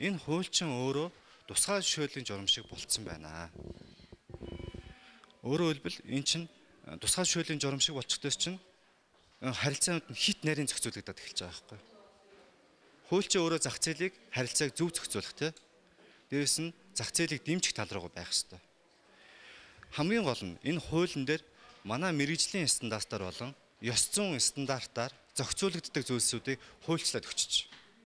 энэ хуульчин өөрөө тусгай жишээлийн журам шиг болцсон байна. Өөрөөр хэлбэл эн чинь тусгай жишээлийн журам шиг болчихдоос чинь харилцаанд нь хит нарийн зохицуулагдаад эхэлж байгаа байхгүй. Хуульчин өөрөө зах зээлийг харилцааг зөв зохицуулах те. Дээрээс нь зах зээлийг дэмжих тал руу байх хэрэгтэй. Хамгийн гол нь энэ хуулийн дээр манай мэргэжлийн стандартаар болон ёс зүйн стандартаар зохицуулагддаг зүйлсүүдийг хуульчлаад өгчөж.